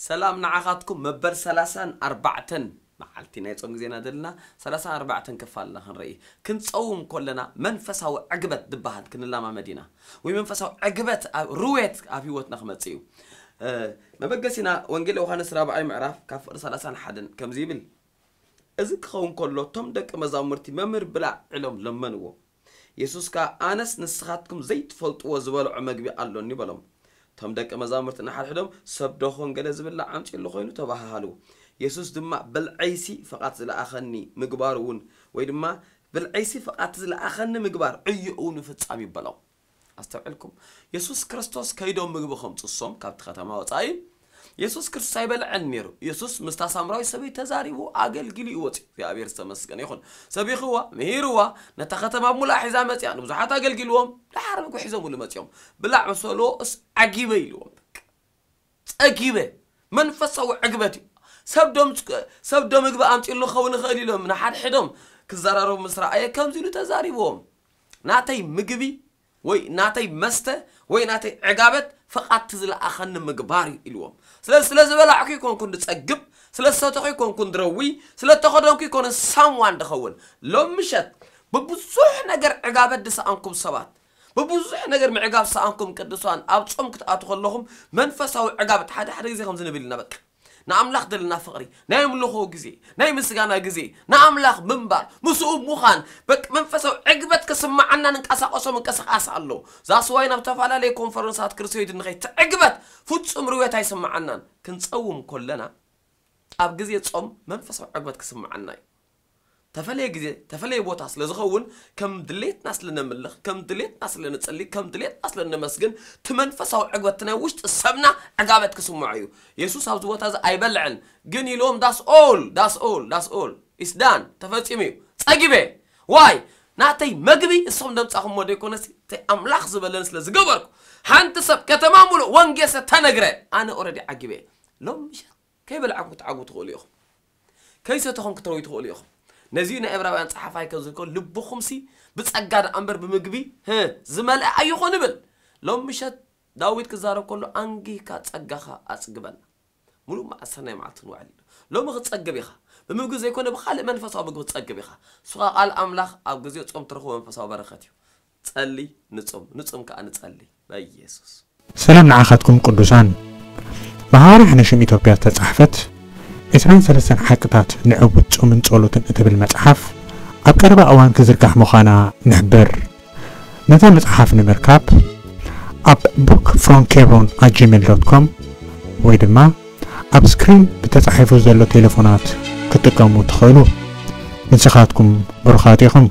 ሰላም ንዓኻትኩም። መበል ሰላሳን ኣርባዕተን መዓልቲ ናይ ጾም ግዜና ዘለና፣ ሰላሳን ኣርባዕተን ክፋልና ክንርኢ። ክንጸውም ከለና መንፈሳዊ ዕግበት ዝበሃል ክንለማመድ ኢና፣ ወይ መንፈሳዊ ዕግበት ኣብ ርዌት ኣብ ህይወትና ክመጽእ እዩ። መበገሲና ወንጌል ዮሃንስ ራብዓይ ምዕራፍ ካብ ፍቕዲ ሰላሳን ሓደን ከምዚ ይብል። እዚ ክኸውን ከሎ እቶም ደቂ መዛሙርቲ መምህር ብላዕ ኢሎም ለመንዎ። የሱስ ከኣ ኣነስ ንስኻትኩም ዘይትፈልጥዎ ዝበልዖ መግቢ ኣሎኒ በሎም። እቶም ደቂ መዛሙርቲ ንሓድሕዶም ሰብ ዶኾን ገለ ዝብላዕ ኣምጺእሉ ኾይኑ ተባሃሃሉ። የሱስ ድማ ብልዐይሲ ፍቓድ ዝለኣኸኒ ምግባር እውን ወይ ድማ ብልዐይሲ ፍቓድ ዝለኣኸኒ ምግባር ዕዮ እውን ምፍጻም ይበሎም። ኣስተውዕልኩም፣ የሱስ ክርስቶስ ከይዶም ምግቢ ከምፅሶም ካብቲ ከተማ ወፃኢ። የሱስ ክርስቶስ ኣይበልዐን ነይሩ። የሱስ ምስታ ሳምራዊ ሰበይቲ ተዛሪቡ ኣገልጊሉ እዩ ወፂኡ። እግዚኣብሔር ዝተመስገነ ይኹን። ሰቢኽዋ፣ ምሂርዋ፣ ነታ ከተማ ሙሉኣ ሒዛ መፅያ። ንብዙሓት ኣገልጊልዎም፣ ደሓር ምግቢ ሒዞምሉ መፅዮም። ብላዕ ምስ በልዎ እስ ዓጊበ ኢልዎም። በቃ ፀጊበ። መንፈሳዊ ዕግበት እዩ። ሰብ ዶ ምግቢ ኣምፂሉ ክኸውን ይኽእል ኢሎም ንሓድሕዶም ክዘራረቡ ምስ ረኣየ ከምዚ ኢሉ ተዛሪብዎም። ናተይ ምግቢ ወይ ናተይ መስተ ወይ ናተይ ዕጋበት ፍቓድቲ ዝለኣኸኒ ምግባር እዩ ኢልዎም። ስለዚ ስለ ዝበላዕኩ ይኮንኩን ድጸግብ፣ ስለ ዝሰተኹ ይኮንኩን ድረዊ፣ ስለ ተኸደንኩ ይኮነ ሳምዋን ድኸውን። ሎም ምሸት ብብዙሕ ነገር ዕጋበት ድሰኣንኩም ሰባት፣ ብብዙሕ ነገር ምዕጋብ ሰኣንኩም ቅዱሳን ኣብ ጾም ክትኣቱ ከለኹም መንፈሳዊ ዕጋበት ሓደ ሓደ ግዜ ከምዚ ንብል ኢና። በቃ ንኣምላኽ ዘለና ፍቕሪ፣ ናይ ኣምልኾ ግዜ፣ ናይ ምስጋና ግዜ፣ ንኣምላኽ ምንባር፣ ምስኡ ምዃን፣ በቃ መንፈሳዊ ዕግበት ክስምዓና ንንቀሳቐሶ ምንቅስቓስ ኣሎ። ዛስዋይ ናብ ተፈላለየ ኮንፈረንሳት ክርስቶይድ ንኸይ ትዕግበት ፍጹም ርዌት ኣይስምዓናን። ክንጸውም ኮለና ኣብ ግዜ ጾም መንፈሳዊ ዕግበት ክስምዓና እዩ። ተፈለየ ግዜ ተፈለየ ቦታ ስለ ዝኸውን ከም ድሌትና ስለ ነምልኽ ከም ድሌትና ስለ ንጸሊ ከም ድሌትና ስለ ነመስግን እቲ መንፈሳዊ ዕግበት ናይ ውሽጢ ሰብና ዕጋበት ክስምዖ እዩ። የሱስ ኣብዚ ቦታ እዚ ኣይበልዐን ግን ኢልዎም that's all that's all that's all it's done ተፈጺሙ እዩ ጸጊበ ዋይ ናተይ መግቢ እሶም ደምጻኹሞ ዶ ይኮነሲ እቲ ኣምላኽ ዝበለኒ ስለ ዝገበርኩ ሓንቲ ሰብ ከተማ ሙሉእ ወንጌል ስለ ተነግረ ኣነ ኦረዲ ዓጊበ ሎም ምሸት ከይበላዕኩም ክትዓግቡ ትኽእሉ ኢኹም። ከይሰተኹም ክትረዊ ትኽእሉ ኢኹም። ነዚ ናይ ዕብራውያን ጸሓፋይ ከም ዝልኮ ልብኹምሲ ብጸጋ ደኣ እምበር ብምግቢ ህ ዝመልአ ኣይኹን ይብል። ሎም ምሸት ዳዊት ክዛረብ ከሎ ኣንጊህካ ጸጋኻ ኣጽግበና። ሙሉእ መዓልቲ ሰናይ መዓልቲ ክንውዕል ኢና። ሎሚ ክትጸግብ ኢኻ። ብምግቢ ዘይኮነ ብኻልእ መንፈሳዊ ምግቢ ክትጸግብ ኢኻ። እሱ ኸኣ ቃል ኣምላኽ ኣብ ግዜ ጾም ትረኽቦ መንፈሳዊ በረኸት እዩ። ጸሊ ንጹም፣ ንጹም ከኣ ንጸሊ በኢየሱስ። ሰላም ንዓኻትኩም ቅዱሳን። ብሃዋርያ ሕነሽም ኢትዮጵያ ዝተጻሕፈት ዕስራን ሰለስተን ሓቅታት ንዕውት ጾምን ጸሎትን እትብል መጽሓፍ ኣብ ቀረባ እዋን ክዝርጋሕ ምዃና ንሕብር። ነዛ መጽሓፍ ንምርካብ ኣብ book from hebron at gmail dot com ወይ ድማ ኣብ ስክሪን ብተጻሒፉ ዘሎ ቴሌፎናት ክትጥቀሙ ትኽእሉ። ንስኻትኩም ብሩኻት ኢኹም።